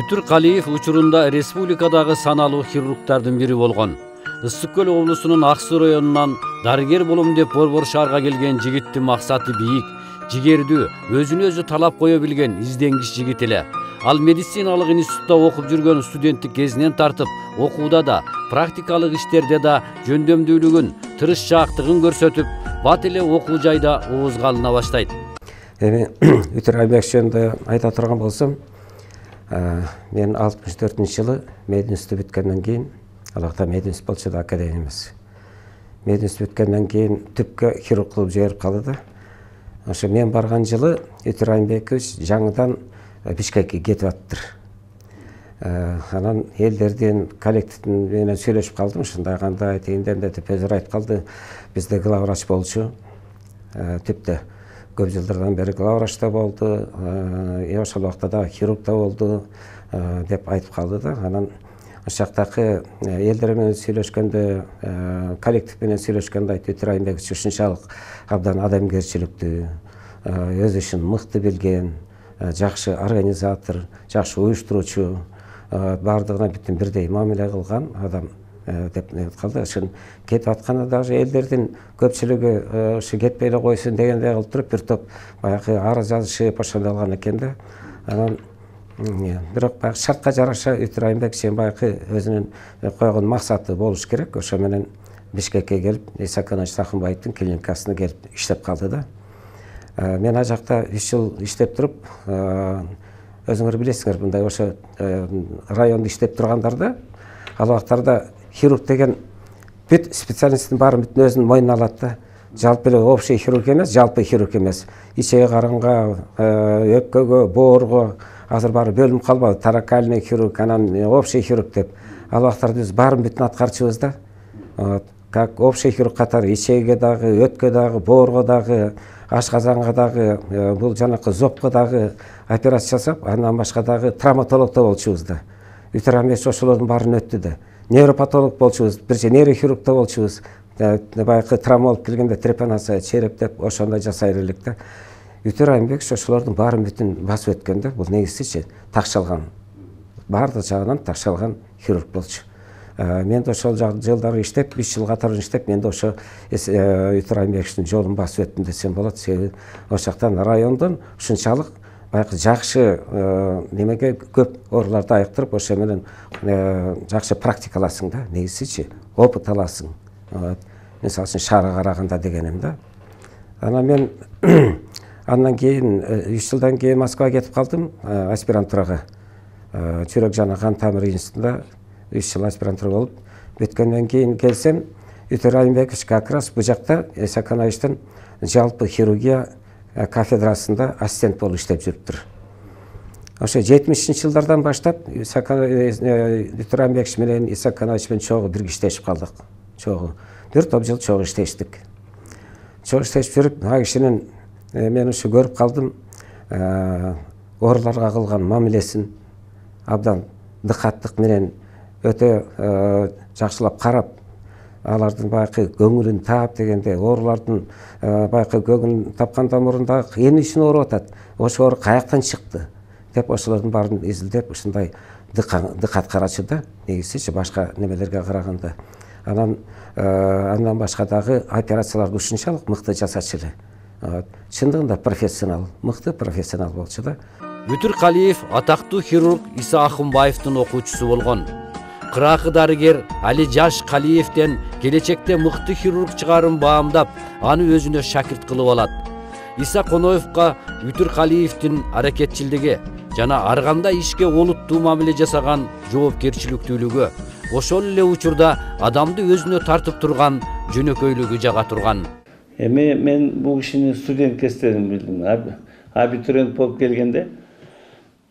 Бүтүр Калиев учурунда республикадагы саналуу хирургдардын бири болгон. Ысык Көл облусунун Ак Суу районунан дарыгер болом деп Борбор шаарга келген жигиттин максаты бийик, жигердүү, өзүнө өзү талап кое билген изденгич жигит эле. Ал медициналык институтта окуп жүргөн студенттик кезинен тартып, окууда да, практикалык иштерде да жөндөмдүүлүгүн, тырышчаактыгын көрсөтүп, бат эле окуу жайда оозга алына баштайт. Эми Бүтүр Айбек жөнүндө айта турган болсом, мен 64-жылы мединститут бүткөндөн кийин, алакта мединститут болчу да академия эмес. Мединститут бүткөндөн кийин түпкө хирург кылып жиберип калды да. Ошо мен барган жылы Бүтүр Айбекович жаңыдан Бишкекке кетип аттыр. Анан элдердин коллективдин менен сүйлөшүп калдым, ушундай кандай тегинден деп өзү айтып калды. Бизде главврач болчу. Типте көп жылдардан бери главврачта болду, ошол убакта да хирургда болду деп айтып калды да. Анан ошол жактагы элдер менен сүйлөшкөндө, коллектив менен сүйлөшкөндө айтты, Бүтүр Айбекович ушунчалык абдан адамгерчиликтүү, өз ишин мыкты билген, жакшы организатор, жакшы уюштуруучу, бардыгына бүтүн бирдей мамиле кылган адам деп калды. Ошон кетип атканда даже элдердин көпчүлүгү ушу кетпей эле койсун дегендей кылып туруп бир топ баягы арыз жазышып ошондой кылган экен да. Анан бирок баягы шартка жараша Бүтүр Айбекович баягы өзүнүн койгон максаты болуш керек. Ошо менен Бишкекке келип, Иса Аканович Сахынбаевдин клиникасына келип иштеп калды да. Мен ал жакта 3 жыл иштеп туруп, өзүңөр билесиңер, мындай ошо райондо иштеп тургандарда, ал убактарда хирург деген бүт специалисттин баарын бүтүн өзүнүн мойнуна алат да. Жалпы эле общий хирург эмес, жалпы хирург эмес. Ичеги карынга, өпкөгө, боорго азыр баары бөлүнүп калбады. Таракальный хирург, анан общий хирург деп. Ал убактарда биз баарын бүтүн аткарчубуз да. Как общий хирург катары ичеге дагы, өткө дагы, боорго дагы, ашказанга дагы, бул жанакы зобко дагы операция жасап, андан башка дагы травматологдо болчубуз да. Бүтүр Айбекович ошолордун баарын өттү да. Невропатолог болчубуз, бирче нейрохирургда болчубуз. Баягы травмалык келгенде трепанация, череп деп ошондой жасай элек да. Бүтүр Айбекович ошолордун баарын бүтүн басып өткөн да. Бул негизичи такшалган. Баардык жагынан такшалган хирург болчу. Мен да ошол жылдары иштеп, 3 жыл катары иштеп, мен да ошо Бүтүр Айбековичтин жолун басып өттүм десем болот. Себеби ошол жактан райондон ушунчалык баягы жакшы немеге көп ооруларды айыктырып, ошо менен жакшы практикаласың да, негизичи опыт аласың. Мисалы үчүн шаарга караганда дегеним да. Анан мен андан кийин 3 жылдан кийин Москвага кетип калдым, аспирантурага. Жүрөк жана кан тамыр институтунда 3 жыл аспирантура болуп, бүткөндөн кийин келсем, Бүтүр Айбекович как раз бу жакта Иса Акановичтин жалпы хирургия кафедрасында ассистент болуп иштеп жүрүптүр. Ошо 70-жылдардан баштап Бүтүр Айбекович менен Иса Аканович менен чогуу бирге иштешип калдык. Чогуу бир топ жыл чогуу иштештик. Чогуу иштешип жүрүп, ал кишинин мен ушу көрүп калдым, ооруларга кылган мамилесин абдан дыкаттык менен өтө жакшылап карап, алардын баягы көңүлүн таап дегенде, оорулардын баягы көңүлүн тапкандан мурун дагы эмне үчүн ооруп атат, ошо оору каяктан чыкты деп ошолордун баарын изилдеп, ушундай дыкат карачу да, негизичи башка немелерге караганда. Андан башка дагы операцияларды ушунчалык мыкты жасачу эле. Чындыгында профессионал, мыкты профессионал болчу да. Бүтүр Калиев атактуу хирург Иса Акынбаевдин окуучусу болгон. Кыракы дарыгер Али Жаш Калиевден келечекте мыкты хирург чыгарын баамдап, аны өзүнө шакирт кылып алат. Иса Коноевго Бүтүр Калиевдин аракетчилдиги жана ар кандай ишке олуттуу мамиле жасаган жоопкерчиликтүүлүгү, ошол эле учурда адамды өзүнө тартып турган жөнөкөйлүгү жага турган. Эми мен бул кишинин студент кездерин билдим. Абитуриент болуп келгенде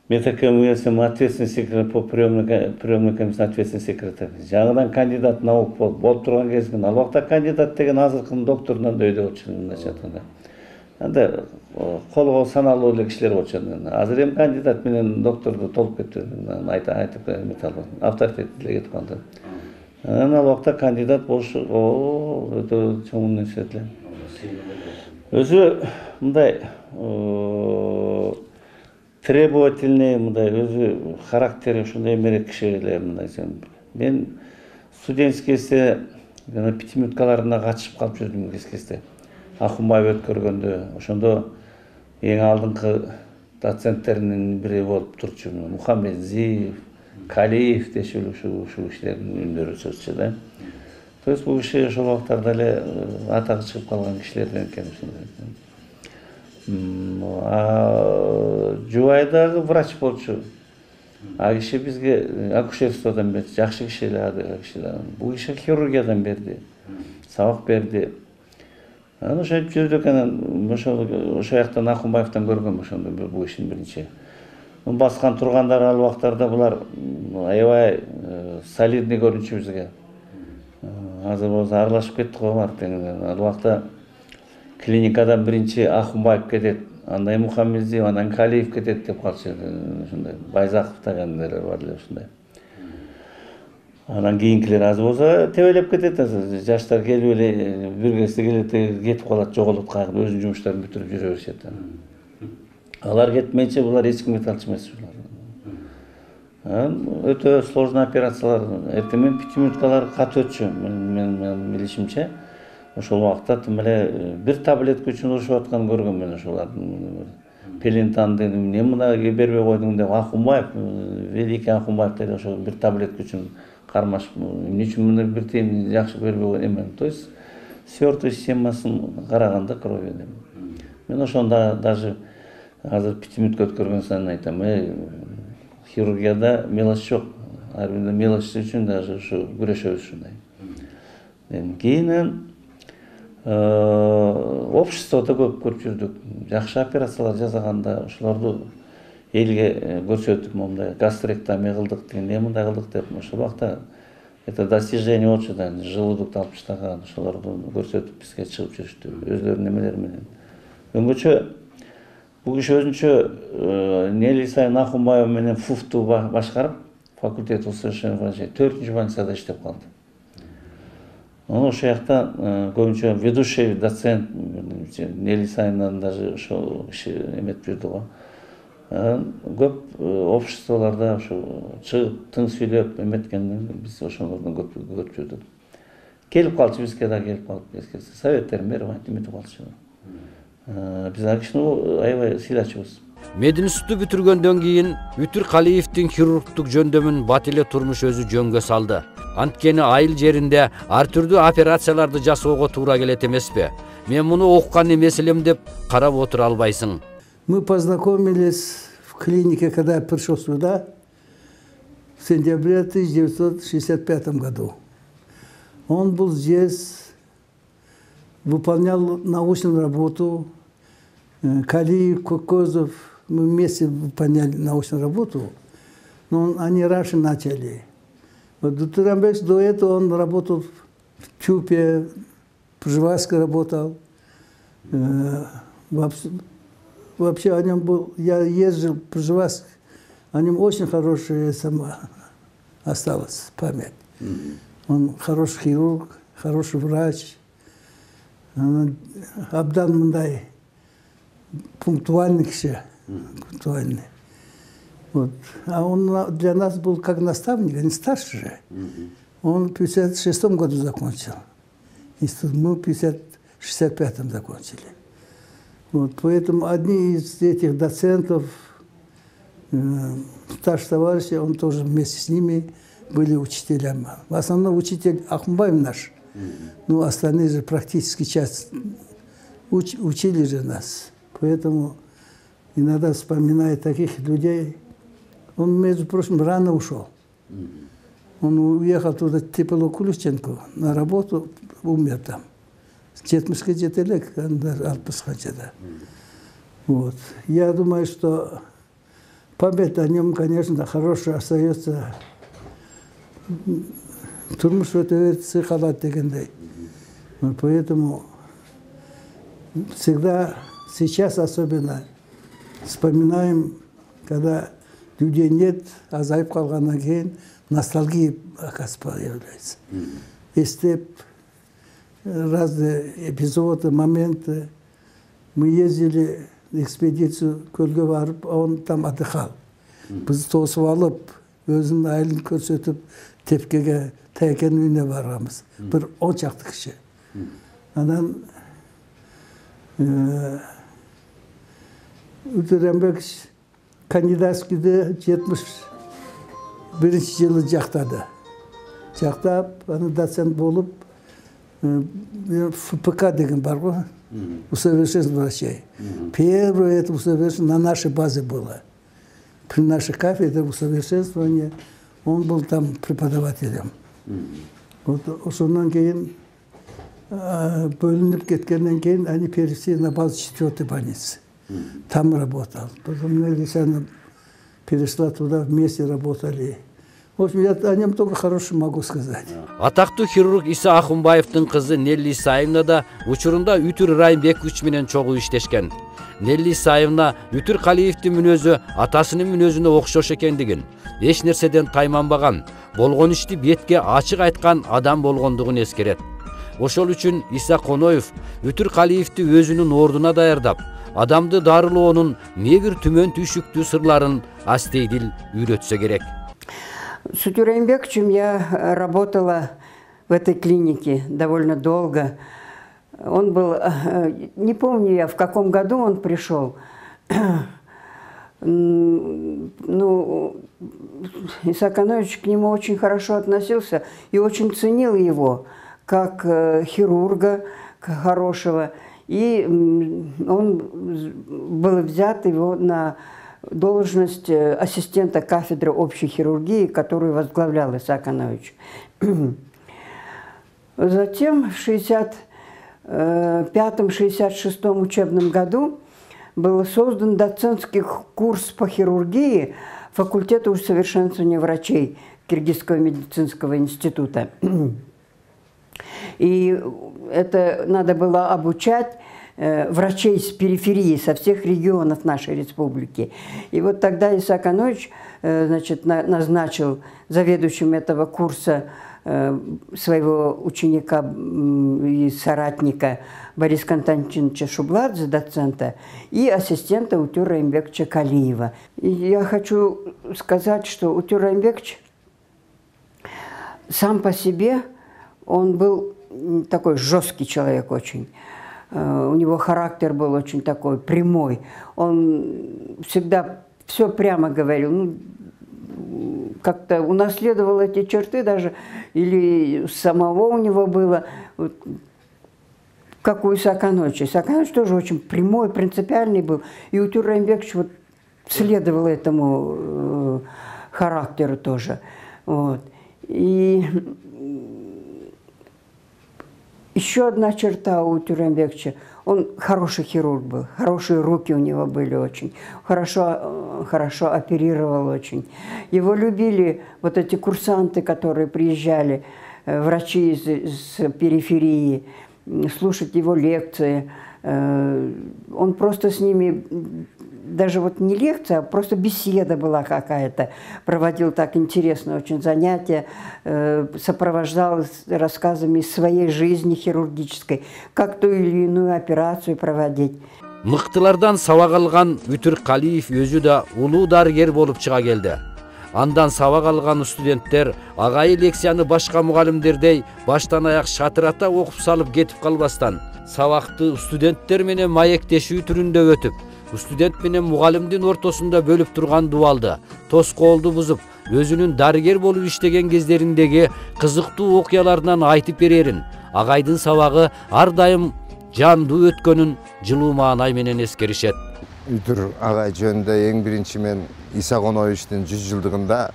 Метаком университетинин ответственный секретарь по приемной комиссии ответственный секретарь. Жаңыдан кандидат наук болуп турган кезген. Ал убакта кандидат деген азыркынын докторунан да өйдө болчу мындайча айтканда. Анда колго саналуу эле кишилер болчу. Азыр эми кандидат менен докторду толуп кетти. Айтып металлы авторитет эле кетип калды. Анан ал убакта кандидат болуш өтө чоң нерсе эле. Өзү мындай требовательный, мындай өзү характери ушундай эмерээк киши эле мындай. Мен студенческий кезде жана пятиминуткаларына катышып калып жүрдүм кезде. Акунбаев өткөргөндө ошондо эң алдыңкы доценттеринин бири болуп турчу. Мухаммедзиев, Калиев дешил ушул кишилердин үндөрү чыкчу да. То есть бул киши ошол убактарда эле атагы чыгып калган кишилерден экен. Жубай дагы врач болчу. А киши бизге акушерстводон берди, жакшы киши эле киши. Бул киши хирургиядан берди, сабак берди. Анан ошентип жүрдүк, анан ошол жактан Акунбаевден көргөм ошондо бул ишин биринчи. Баскан тургандар ал убактарда булар аябай солидный көрүнчү бизге. Азыр болсо аралашып кеттик го бар тегинен. Ал убакта клиникадан биринчи Акунбаев кетет, андан Мухаммедзиев, андан Калиев кетет деп калчу. Ошондой Байзаков дегендер бар эле ушундай. Анан кийинкилер азыр болсо тебелеп кетет, азыр жаштар келип эле бир кезде келет, кетип калат, жоголот кайгы өзүнүн жумуштарын бүтүрүп жүрө беришет. Алар кетмейинче булар эч кимге талчу эмес булар. Өтө сложный операциялар. Эртең менен 5 минуткалар кат өтчү. Мен билишимче ошол убакта тим эле бир таблетка үчүн урушуп атканын көргөм мен ошолардын. Пелентанды эмне мына бербей койдуң деп Акунбаев, великий Акунбаев деп ошол бир таблетка үчүн кармашып, эмне үчүн муну бир тиен жакшы бербей койдуң эме. То есть свёртый системасын караганда крови деп. Мен ошондо даже азыр 5 минутка өткөргөн сайын айтам, хирургияда мелочь жок. Ар биринде мелочь үчүн даже ушу күрөшөбүз ушундай. Кийин обществодо көп көрүп жүрдүк. Жакшы операциялар жасаганда ошолорду элге көрсөтүп, мондай гастректомия кылдык деген, мындай кылдык деп ошол убакта это достижение болчу да, желудокту алып таштаган, ошолорду көрсөтүп бизге чыгып жүрүштү өзлөрүнүн эмелери менен. Өңгөчө бул киши өзүнчө Нели Сайын Акунбаев менен ФУФТу башкарып, факультет усовершенствования врачей 4-нчү больницада иштеп калды. Ошол жакта көбүнчө ведущий доцент Нели Сайындан даже ошол киши эметип жүрдү го. Көп обществолордо ошо чыгып тың сүйлөп эметкенден биз ошолордон көп көрүп жүрдүк. Келип калчу бизге да, келип калып советтерин берип эметип калчу. Биз ал кишини аябай сыйлачубуз. Мединституту бүтүргөндөн кийин Үтүр Калиевдин хирургдук жөндөмүн бат эле турмуш өзү жөнгө салды. Анткени айыл жеринде ар түрдүү операцияларды жасоого туура келет эмеспи? Мен муну окуган эмес элем деп карап отура албайсың. Мы познакомились в клинике, когда я пришел сюда, в сентябре 1965 году. Он был здесь, выполнял научную работу. Калиев, Кокозов, мы вместе выполняли научную работу, но они раньше начали. Вот Дутурамбекс до этого он работал в ТЮПе, в Пржевальске работал. Вообще о нем был, я ездил в Пржевальск, о нем очень хорошая осталась память. Он хороший хирург, хороший врач. Абдан мындай пунктуальный киши, пунктуальный. Вот. А он для нас был как наставник, не старше же. Он в 1956 году закончил. Мы в 1965 закончили. Вот. Поэтому одни из этих доцентов, старших товарищей, он тоже вместе с ними были учителями. В основном учитель Акунбаев наш. Ну, остальные же практически часть учили же нас. Поэтому иногда вспоминая таких людей. Он, между прочим, рано ушел. Он уехал туда, Тепело Куличенко, на работу, умер там. Жетмишке жетелек, Алпысханчада. Вот. Я думаю, что память о нем, конечно, хорошая остается. Турмуш өтө сыйкалат дегендей. Поэтому всегда, сейчас особенно, вспоминаем, когда людей нет, азайып калгандан кийин ностальгия, оказывается, появляется. Эстеп разные эпизоды, моменты. Мы ездили экспедиция көлгө барып, он там отдыхал. Біз тосып алып, өзүнүн айылын көрсөтүп, тепкеге тайкен үйүнө барганбыз. Бир 10 чакты киши. Анан Үтүрөнбек кандидатскийде 71-жылы жактады. Жактап, аны доцент болуп, ФПК деген бар го, усовершенствование врачей. Первое это усовершенствование на нашей базе было. При нашей кафедре усовершенствования он был там преподавателем. Вот ошондан кийин бөлүнүп кеткенден кийин они перевели на базу 4-й больницы. Там работал. Потом Нелли перешла туда, вместе работали. В общем, я о нем только хорошее могу сказать. Атактуу хирург Иса Акунбаевдин кызы Нелли Исаевна да учурунда Үтүр Райымбекович менен чогуу иштешкен. Нелли Исаевна Үтүр Калиевдин мүнөзү атасынын мүнөзүнө окшош экендигин, эч нерседен тайманбаган, болгон ишти бетке ачык айткан адам болгондугун эскерет. Ошол үчүн Иса Коноев Үтүр Калиевди өзүнүн ордуна даярдап, адамды дарылоонун небир түмөн түйшүктүү сырларын астейдил үйрөтсө керек. С Утюр Райымбековичем я работала в этой клинике довольно долго. Он был, не помню я, в каком году он пришел. Ну, Иса Коноевич к нему очень хорошо относился и очень ценил его как хирурга хорошего. И он был взят его на должность ассистента кафедры общей хирургии, которую возглавлял Иса Коноевич. Затем в 1965-1966 учебном году был создан доцентский курс по хирургии факультета усовершенствования врачей Киргизского медицинского института. И это надо было обучать врачей с периферии, со всех регионов нашей республики. И вот тогда Иса Коноевич, значит, назначил заведующим этого курса своего ученика и соратника Бориса Константиновича Шубладзе, доцента, и ассистента Утюра Райымбековича Калиева. И я хочу сказать, что Утюр Райымбекович сам по себе, он был такой жесткий человек очень. У него характер был очень такой прямой. Он всегда все прямо говорил. Ну, как-то унаследовал эти черты даже, или самого у него было, вот, как у Иса Коноевича. Иса Коноевич тоже очень прямой, принципиальный был. И Утюр Райымбекович вот следовал этому характеру тоже. Вот. И еще одна черта у Утюра Райымбековича. Он хороший хирург был, хорошие руки у него были очень, хорошо оперировал очень. Его любили вот эти курсанты, которые приезжали, врачи из периферии, слушать его лекции. Он просто с ними, даже вот не лекция, а просто беседа была какая-то. Проводил так интересно очень занятия, сопровождал рассказами из своей жизни хирургической, как ту или иную операцию проводить. Мыктылардан сабак алган Үтүр Калиев өзү да улуу дарыгер болуп чыга келди. Андан сабак алган студенттер агайы лекцияны башка мугалимдердей баштан аяк шатырата окуп салып кетип калбастан, сабакты студенттер менен маектешүү түрүндө өтүп, студент менен мугалимдин ортосунда бөлүп турган дубалды, тоскоолду бузуп, өзүнүн дарыгер болуп иштеген кездериндеги кызыктуу окуяларынан айтып берерин, агайдын сабагы ар дайым жандуу өткөнүн жылуу маанай менен эскеришет. Үтүр агай жөнүндө эң биринчи мен Иса Коноевичтин 100 жылдыгында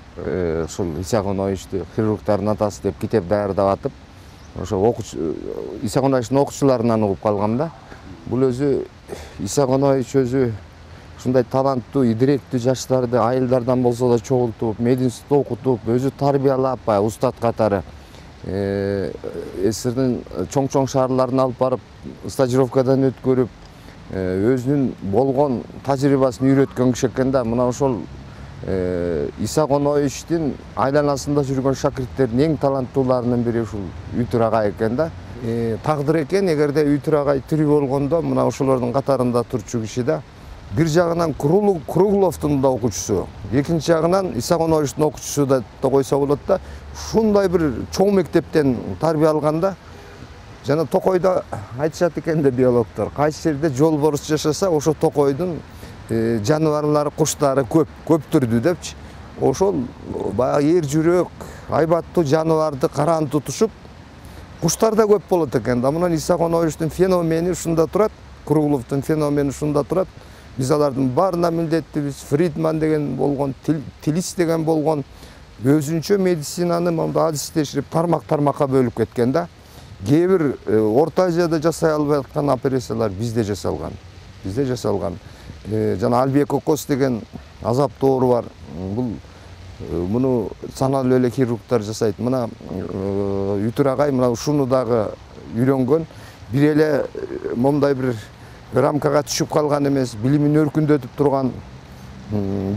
ушул Иса Коноевичти хирургдардын атасы деп китеп даярдап атып, ошо Иса Коноевичтин окуучуларынан угуп калгам да. Бул өзү Иса Коноевич өзү ушундай таланттуу, идиректүү жаштарды айылдардан болсо да чогултуп, мединститутта окутуп, өзү тарбиялап, устат катары СССРдин чоң шаарларына алып барып, стажировкадан өткөрүп, өзүнүн болгон тажрыйбасын үйрөткөн киши экен да. Мына ошол Иса Коноевичтин айланасында жүргөн шакирттердин эң таланттууларынын бири ушул Үтүр агай экен да. Тагдыр экен, эгерде Үтүр агай тирүү болгондо мына ошолордун катарында турчу киши да. бир жагынан Кругловдун да окуучусу, экинчи жагынан Исаконовичтин окуучусу да койсо болот да. Ушундай бир чоң мектептен тарбия алганда жана Токойдо айтышат экен да биологдор, кайсы жерде жол борус жашаса, ошо Токойдун жаныбарлары, куштары көптүрдү депчи. Ошол баягы эр жүрөк, айбаттуу жаныбарды караан тутушуп, куштар да көп болот экен да. Мына Исаконовичтин феномени ушунда турат, Кругловдун феномени ушунда турат. Биз алардын баарына милдеттибиз. Фридман деген болгон, Тилис деген болгон, өзүнчө медицинаны монда адистештирип тармакка бөлүп кеткен да. Кээ бир Орто Азияда жасай албай аткан операциялар бизде жасалган. Жана Альбек Окос деген азаптуу оору бар. Муну саналуу эле хирургдар жасайт. Мына Үтүр агай мына ушуну дагы үйрөнгөн. Бир эле момундай бир рамкага түшүп калган эмес, билимин өркүндөтүп турган,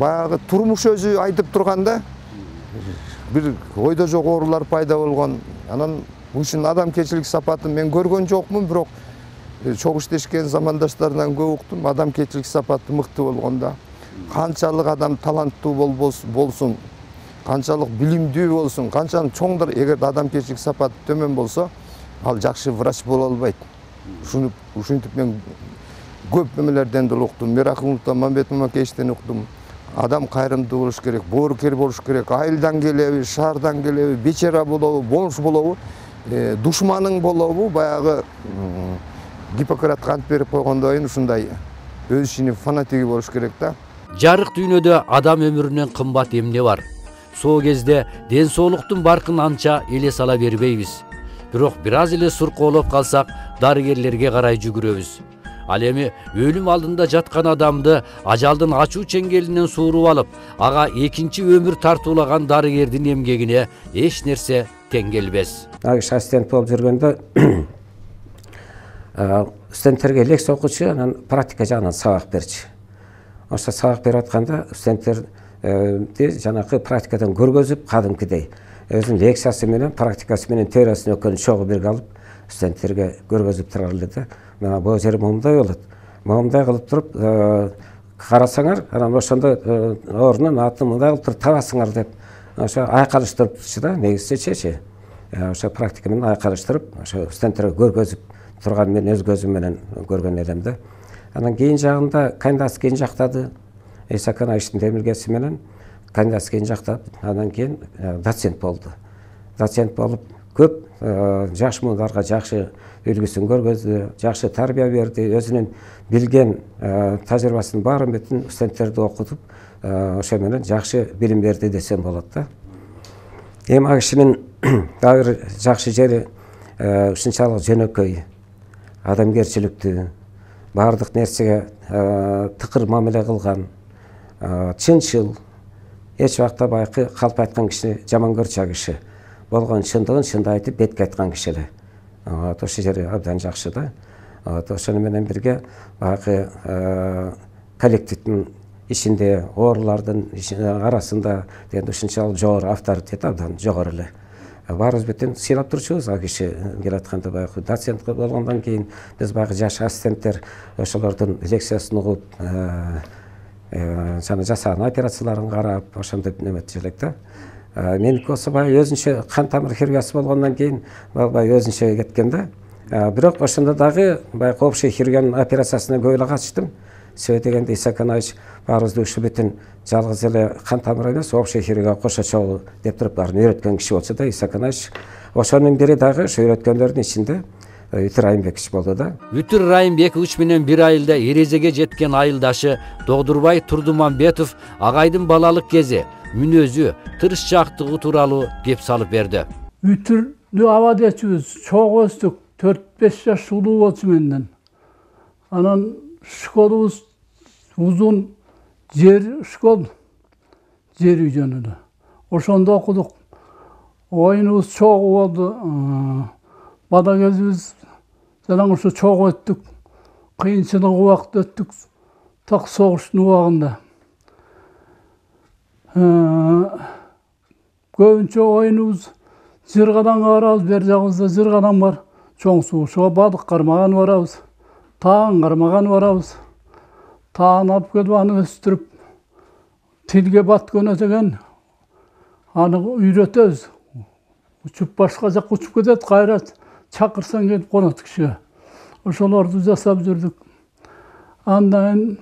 баягы турмуш өзү айтып турганда бир ойдо жок оорулар пайда болгон. Анан ушунун адамкерчилик сапатын мен көргөн жокмун, бирок чогуу иштешкен замандаштардан көп уктум. Адамкерчилик сапаты мыкты болгон да. Канчалык адам таланттуу болсун, канчалык билимдүү болсун, канчалык чоңдор, эгер адамкерчилик сапаты төмөн болсо, ал жакшы врач боло албайт. Ушинтип мен көп эмелерден деле уктум. Миракуловдон, Мамбет Мамакеевичтен уктум. Адам кайрымдуу болуш керек, боорукер болуш керек, айылдан келеби, шаардан келеби, бечара болобу, бомж болобу, душманың болобу, баягы Гиппократ кант берип койгондой ушундай өз ишинин фанатиги болуш керек да. Жарык дүйнөдө адам өмүрүнөн кымбат эмне бар? Сол кезде ден соолуктун баркын анча эле сала бербейбиз. Бирок бир аз эле суркоолоп калсак, дарыгерлерге карай жүгүрөбүз. Ал эми өлүм алдында жаткан адамды ажалдын ачуу чеңгелинен сууруп алып, ага экинчи өмүр тартуулаган дарыгердин эмгегине эч нерсе тең келбес. Агыш ассистент болуп жүргөндө студенттерге лекция окучу, анан практика жагынан сабак берчи. Ошо сабак берип атканда студенттерди жанакы практикадан көргөзүп, кадимкидей өзүнүн лекциясы менен, практикасы менен теориясын экөөнү чогуу бирге алып, студенттерге көргөзүп турар эле да. Мына бул жери момундай болот. Момундай кылып туруп карасаңар, анан ошондо орунун атын мындай кылып туруп табасыңар деп, ошо айкалыштырыпчы да, негизичечи. Ошо практика менен айкалыштырып, ошо студенттерге көргөзүп турган мен өз көзүм менен көргөн элем да. Анан кийин жагында кандидатский жактады. Исаконовичтин демилгеси менен кандидатский жактап, анан кийин доцент болду. Доцент болуп көп жаш муундарга жакшы үлгүсүн көргөздү, жакшы тарбия берди, өзүнүн билген тажрыйбасынын баарын бүтүн студенттерди окутуп, ошо менен жакшы билим берди десем болот да. Эми ал кишинин дагы бир жакшы жери ушунчалык жөнөкөй, адамгерчиликтүү, баардык нерсеге тыкыр мамиле кылган, чынчыл, эч убакта байкы калп айткан кишини жаман көрчү киши. Болгон чындыгын чында айтып, бетке айткан киши эле. Ошол жери абдан жакшы да. Ошону менен бирге байкы коллективдин ичинде, оорулардын арасында дегенде ушунчалык жогору авторитет абдан жогору эле. Баарыбыз бүтүн сыйлап турчубуз ал киши келатканда байкы доцент болгондон кийин биз байкы жаш ассистенттер ошолордун лекциясын угуп, жана жасаган операцияларын карап, ошондой неметчү элек да. Меники болсо баягы өзүнчө кан тамыр хирургиясы болгондон кийин баягы өзүнчө кеткен да. Бирок ошондо дагы баягы общий хирургиянын операциясына көп эле катыштым. Себеби дегенде Исаконович баарыбызды ушу бүтүн жалгыз эле кан тамыр эмес, общий хирургия кошо чогуу деп туруп баарын үйрөткөн киши болчу да Исаконович. Ошонун бири дагы ушу үйрөткөндөрдүн ичинде Үтүр Райымбекович болду да. Үтүр Райымбекович менен бир айылда эрезеге жеткен айылдашы Догдурбай Турдумамбетов агайдын балалык кези, мүнөзү, тырышчаактыгы тууралуу кеп салып берди. Үтүрдү абад этчүбүз, чогуу өстүк, 4-5 жаш улуу болчу менден. Анан школубуз узун школ, жер үй жөнүндө. Ошондо окудук. Оюнубуз чогуу болду. Бада кезибиз жана ошо чогуу өттүк. Кыйынчылык убакыт өттүк. Так согуштун убагында. Көбүнчө оюнубуз Жыргаданга барабыз, бер жагыбызда Жыргадан бар. Чоң суу, ошого бадык кармаган барабыз. Таң кармаган барабыз. таан алып келип аны өстүрүп тилге баткөнө деген аны үйрөтөбүз. Учуп башка жакка учуп кетет, кайра чакырсаң келип конот кишиге. Ошолорду жасап жүрдүк. Андан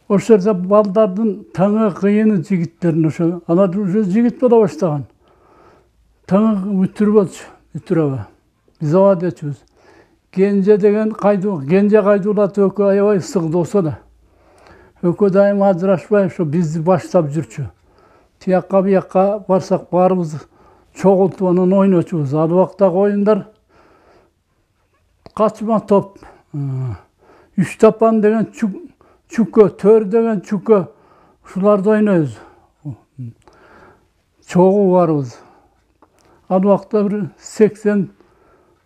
ошол жерде балдардын таңы кыйыны жигиттердин ошо алар уже жигит боло баштаган. Таңы үтүр болчу, үтүрөбө. Биз ооба дечүбүз. Кенже деген Кенже Кайдуулат экөө аябай ысык досу да. Экөө дайым ажырашпай ошо бизди баштап жүрчү. Тиякка биякка барсак баарыбыз чогултуп анан ойночубуз. Ал убактагы оюндар качма топ, үч тапан деген чүкө, төр деген чүкө, ушуларды ойнойбуз. Чогуу барыбыз. Ал убакта бир 80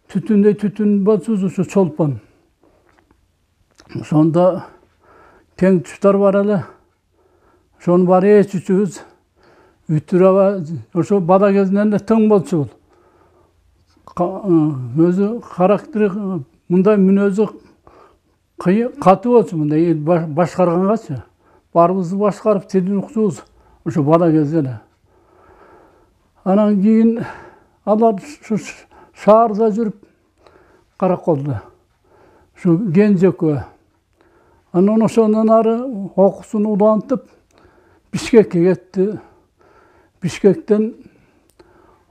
түтүндөй түтүн болчубуз, ушу чолпон. Ошондо тең туштар бар эле. Ошону баары ичүүбүз. Үтүрөбө, ошо бала кезинен эле тең болчу бул. Өзү характери мындай мүнөзү катуу болчу, мындай башкаргангачы. Баарыбызды башкарып тилин укчубуз ошо бала кезде эле. Анан кийин алар ушу шаарда жүрүп караколдо. Ушу Кенже экөө. Анан ошондон ары окуусун улантып Бишкекке кетти. Бишкектен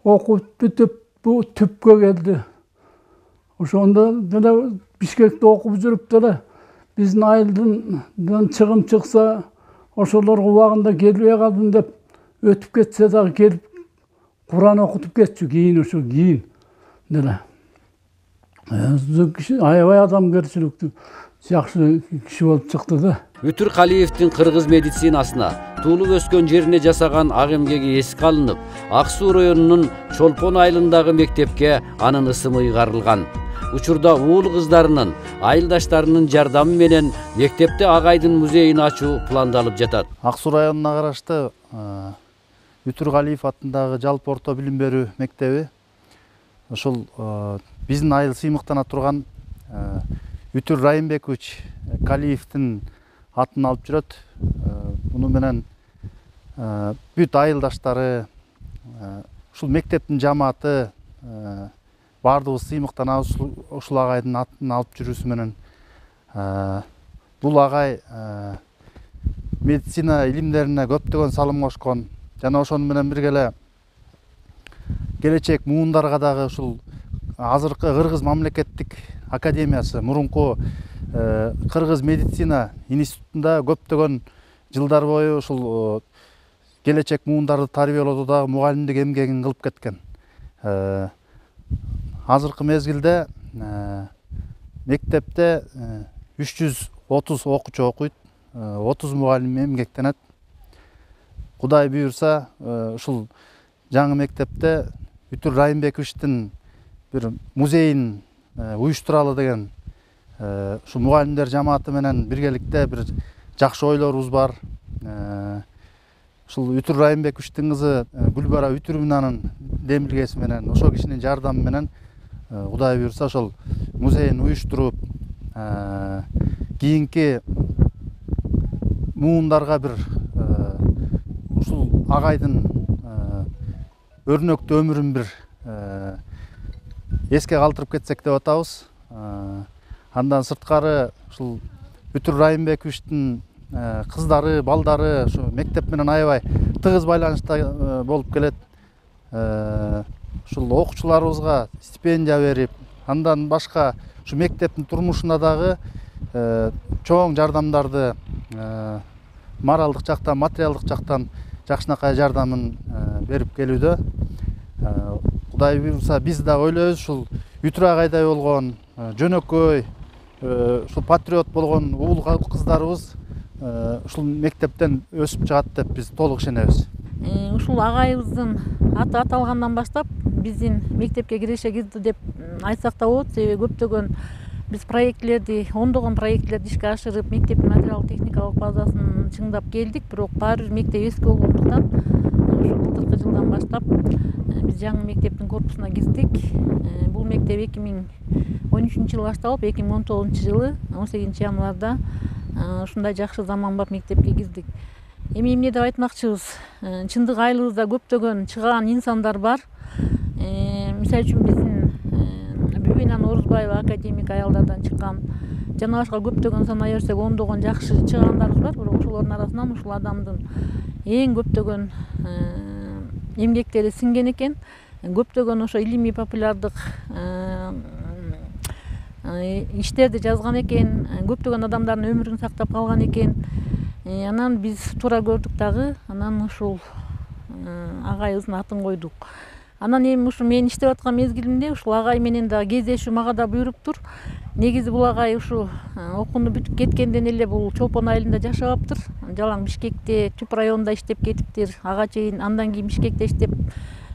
окуп бүтүп бу түпкө келди. Ошондо деле Бишкекте окуп жүрүп деле биздин айылдан чыгым чыкса ошолорго убагында келбей калдым деп өтүп кетсе дагы келип Куран окутуп кетчү. Кийин деле. Аябай адамгерчиликтүү жакшы киши болуп чыкты да. Үтүр Калиевдин кыргыз медицинасына туулуп өскөн жерине жасаган ак эмгеги эске алынып, Ак Суу районунун Чолпон айылындагы мектепке анын ысымы ыйгарылган. Учурда уул кыздарынын, айылдаштарынын жардамы менен мектепте агайдын музейин ачуу пландалып жатат. Ак Суу районуна караштуу Үтүр Калиев атындагы жалпы орто билим берүү мектеби ошол биздин айыл сыймыктана турган Үтүр Райымбекович Калиевдин атын алып жүрөт. Муну менен бүт айылдаштары, ушул мектептин жамааты баардыгыбыз сыймыктанабыз ушул агайдын атын алып жүрүүсү менен. Бул агай медицина илимдерине көптөгөн салым кошкон жана ошону менен бирге эле келечек муундарга дагы ушул азыркы Кыргыз мамлекеттик академиясы, мурунку Кыргыз медицина институтунда көптөгөн жылдар бою ушул келечек муундарды тарбиялоодо мугалимдик эмгегин кылып кеткен. Азыркы мезгилде мектепте 330 окуучу окуйт, 30 мугалим эмгектенет. Кудай буйрса, ушул жаңы мектепте Үтүр Райымбековичтин бир музейин уюштуралы деген ушу мугалимдер жамааты менен биргеликте бир жакшы ойлорубуз бар. Ушул Үтүр Райымбековичтин кызы Гүлбара Үтүрмүнанын демилгеси менен, ошол кишинин жардамы менен Кудай буйрса ошол музейин уюштуруп, кийинки муундарга бир ушул агайдын өрнөктүү өмүрүн бир эске калтырып кетсек деп атабыз. Андан сырткары ушул Үтүр Райымбековичтин кыздары, балдары ушу мектеп менен аябай тыгыз байланышта болуп келет. Ушул окуучуларыбызга стипендия берип, андан башка ушу мектептин турмушуна дагы чоң жардамдарды моралдык жактан, материалдык жактан жакшынакай жардамын берип келүүдө. Кудай буйрса биз да ойлойбуз ушул Үтүр агайдай болгон жөнөкөй, ушул патриот болгон уул кыздарыбыз ушул мектептен өсүп чыгат деп биз толук ишенебиз. Ушул агайыбыздын аты аталгандан баштап биздин мектепке киреше кирди деп айтсак да болот. Себеби көптөгөн биз проектлерди, ондогон проектлерди ишке ашырып, мектептин материалдык техникалык базасын чыңдап келдик, бирок баары бир мектеп эски болгондуктан ошол былтыркы жылдан баштап биз жаңы мектептин корпусуна кирдик. Бул мектеп 2013 жылы башталып, 2019 жылы 18 январда ушундай жакшы заманбап мектепке кирдик. Эми эмне деп айтмакчыбыз, чындык айылыбызда көптөгөн чыгаан инсандар бар. Мисалы үчүн биздин Бүбүнан Орузбаева академик аялдардан чыккан, жана башка көптөгөн санай берсек ондогон жакшы чыгаандарыбыз бар. Бирок ошолордун арасынан ушул адамдын эң көптөгөн эмгектери сиңген экен. Көптөгөн ошо илимий популярдык иштерди жазган экен, көптөгөн адамдардын өмүрүн сактап калган экен. Анан биз туура көрдүк дагы, анан ушул агайыбыздын атын койдук. Анан эми ушу мен иштеп аткан мезгилимде ушул агай менен дагы кездешүү мага да буйруптур. Негизи бул агай ушу окууну бүтүп кеткенден эле бул Чолпон айылында жашабаптыр. Жалаң Бишкекте, Түп районунда иштеп кетиптир. Ага чейин андан кийин Бишкекте иштеп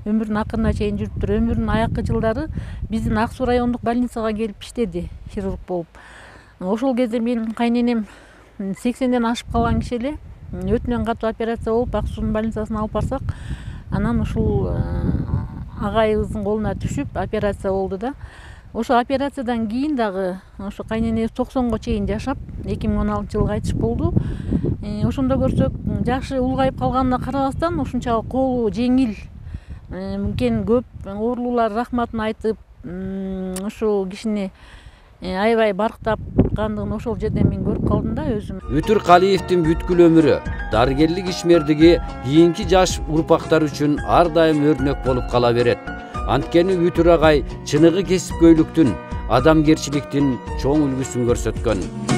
өмүрүнүн акырына чейин жүрүптүр. Өмүрүнүн аяккы жылдары биздин Ак Суу райондук больницага келип иштеди, хирург болуп. Ошол кезде менин кайненем 80ден ашып калган киши эле. Өтүнөн катуу операция болуп, Ак Суунун больницасына алып барсак, анан ушул агайыбыздын колуна түшүп операция болду да. Ошо операциядан кийин дагы ошо кайненебиз 90го чейин жашап, 2016-жылы кайтыш болду. Ошондо көрсөк, жакшы улгайып калганына карабастан ушунчалык колу жеңил экен, көп оорулуулар рахматын айтып, ошол кишини аябай барктапкандыгын ошол жерден мен көрүп калдым да өзүм. Үтүр Калиевдин бүткүл өмүрү, дарыгерлик ишмердиги кийинки жаш урпактар үчүн ар дайым өрнөк болуп кала берет. Анткени Үтүр агай чыныгы кесипкөйлүктүн, адамгерчиликтин чоң үлгүсүн көрсөткөн.